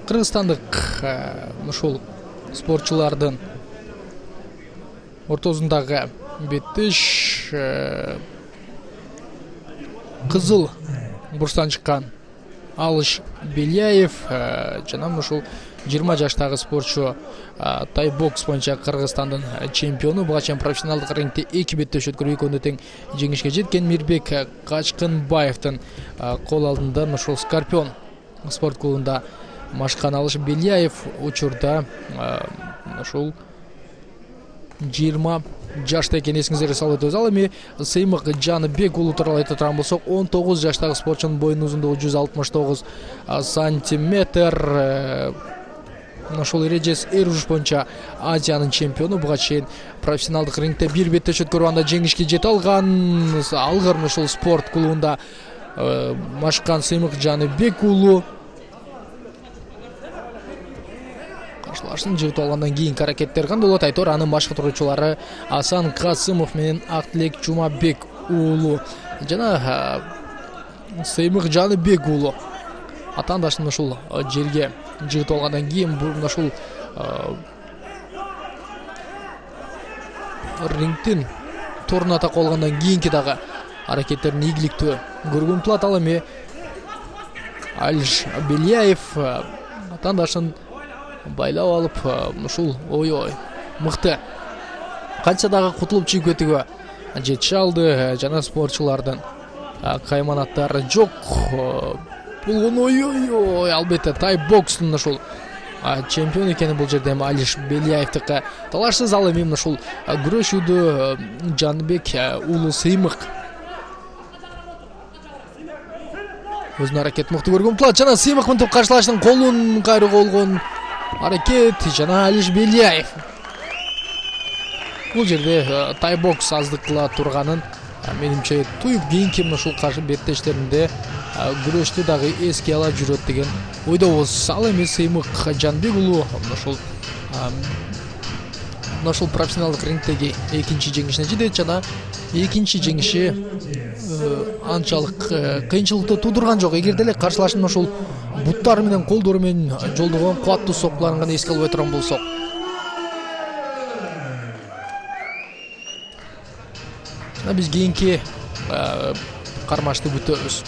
Кыргызстандык ушул спортчулардын ортосундагы беттеш кызыл бурстан чыккан Алыш Беляев жана ушул 20 жаштагы спортчу тай бокс боюнча Кыргызстандын чемпиону. Буга чейин профессионалдык рингде 2 беттеш өткөрүп экөөнү тең жеңишке жеткен Мирбек Качкынбаевдин кол алдында ушул Скорпион спорт клубунда машкан Алыш Беляев учурда ушул 20 жашта экен, эсиңиздерге салып өтөбүз. Ал эми Сыймык Жаныбек уулу тууралуу айта турган болсок, 19 жаштагы спортчунун боюнун узундугу 169 сантиметр. Ошол эрежеси эр-уруш боюнча Азиянын чемпиону. Буга чейин профессионалдык рингде 1 беттеш өткөрүп анда жеңишке жете алган. Алгыр ушул спорт клубунда машкан Сыймык Жаныбек уулу каршылашын жыгып алгандан кийинки аракеттер кандай болот? Айтор анын башкы туруучулары Асан Касымов менен Актилек Жумабек уулу жана Сыймык Жаныбек уулу атаандашын ушул жерге жыгып алгандан кийин ушул рингдин торуна такып алгандан кийинки дагы аракеттерин ийгиликтүү көргөнгө умтулат. Ал эми Алыш Беляев атаандашын байлап алып ушул ой мыкты канча дагы кутулуп чыгып кетүүгө жетише алды. Жана спортчулардын кайманаттары жок болгон. Албетте тай бокстун ушул чемпион экени бул жерде эми Алыш Беляевдики талашсыз. Ал эми ушул күрөшүүдө Жаныбек уулу Сыймык өзүнүн аракетин мыкты көргөн умтулат. Жана Сыймык мынтип каршылаштын колун кайрууга болгон аракет жана Алыш Беляев бул жерде тай бокс аздык кыла турганын менимче туюп кийинки ушул каршы беттештеринде күрөштү дагы эске ала жүрөт деген ойдобуз. Ал эми Сыймык Жанбек уулу ушул профессионалдык рингдеги экинчи жеңишине жетет жана экинчи жеңиши анчалык кыйынчылыкты туудурган жок. Эгерде эле каршылашын ушул буттары менен колдору менен жолдогон кубаттуу соккуларын гана эске алып турган болсок, биз кийинки кармашты күтөбүз.